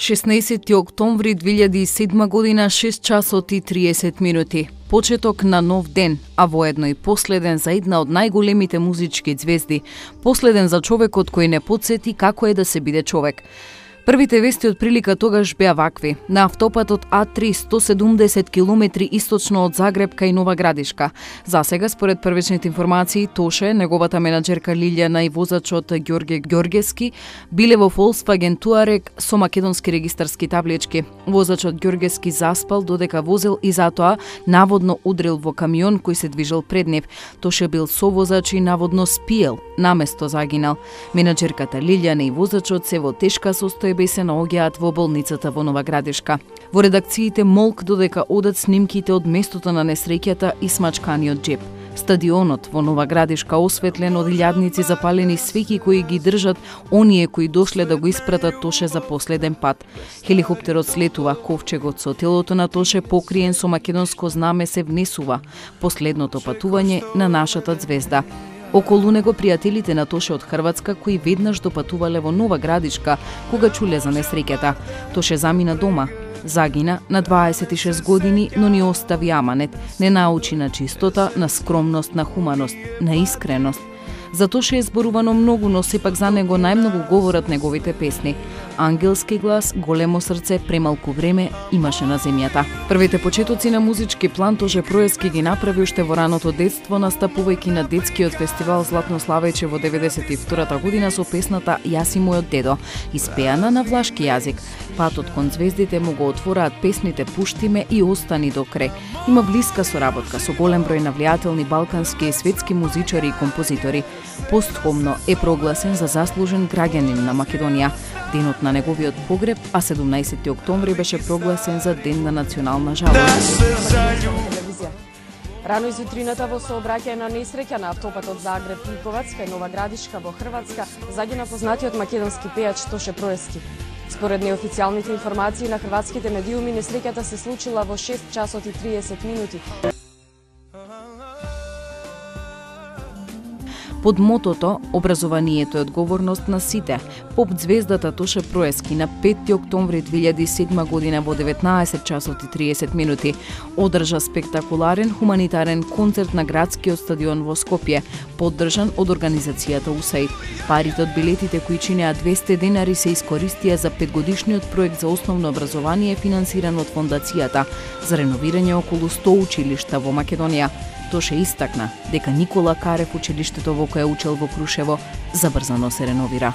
16 октомври 2007 година, 6 часот и 30 минути. Почеток на нов ден, а воедно и последен за една од најголемите музички ѕвезди, последен за човекот кој не потсети како е да се биде човек. Првите вести од прилика тогаш беа вакви. На автопатот А3 170 км источно од Загреб кај Нова Градишка. Засега, според првичните информации, Тоше, неговата менаџерка Лилјана и возачот Ѓорге Ѓоргески биле во Volkswagen Touareg со македонски регистарски таблички. Возачот Ѓоргески заспал додека возел и затоа наводно удрил во камион кој се движел пред нив. Тоше бил совозач и наводно спиел, наместо загинал. Менаџерката Лилјана и возачот се во тешка состојба и се наоѓаат во болницата во Нова Градишка. Во редакциите молк додека одат снимките од местото на несреќата и смачканиот џеп. Стадионот во Нова Градишка осветлен од илјадници запалени свеќи кои ги држат оние кои дошле да го испратат Тоше за последен пат. Хеликоптерот слетува, ковчегот со телото на Тоше покриен со македонско знаме се внесува. Последното патување на нашата ѕвезда. Околу него пријателите на Тоше од Хрватска кои веднаш допатувале во Нова Градишка кога чуле за несреќата. Тоше замина дома. Загина на 26 години, но ни остави аманет. Не научи на чистота, на скромност, на хуманост, на искреност. За Тоше е зборувано многу, но сепак за него најмногу говорат неговите песни. Ангелски глас, големо срце, премалку време имаше на земјата. Првите почетоци на музички план Тоше Проески ги направи уште во раното детство, настапувајќи на детскиот фестивал Златно славејче во 92 година со песната Јас и мојот дедо, испеана на влашки јазик. Патот кон ѕвездите му го отвораат песните Пушти ме и Остани до крај. Има блиска соработка со голем број навлијателни балкански и светски музичари и композитори. Постхумно е прогласен за заслужен граѓанин на Македонија. Денот на неговиот погреб, а 17 октомври беше прогласен за Ден на национална жалост. Рано изутрината во сообраќајна несреќа на автопатот Загреб-Ликовац кај Нова Градишка во Хрватска загина познатиот македонски пејач Тоше Проески. Според неофицијалните информации на хрватските медиуми, несреќата се случила во 6 часот и 30 минути. Под мотото "Образованието е одговорност на сите", поп ѕвездата Тоше Проески на 5 октомври 2007 година во 19 часот и 30 минути одржа спектакуларен хуманитарен концерт на градскиот стадион во Скопје, поддржан од организацијата USAID. Парите од билетите кои чинеа 200 денари се искористија за 5-годишниот проект за основно образование финансиран од фондацијата за реновирање околу 100 училишта во Македонија. Тоше истакна дека Никола Карев, училиштето во кое учел во Крушево, забрзано се реновира.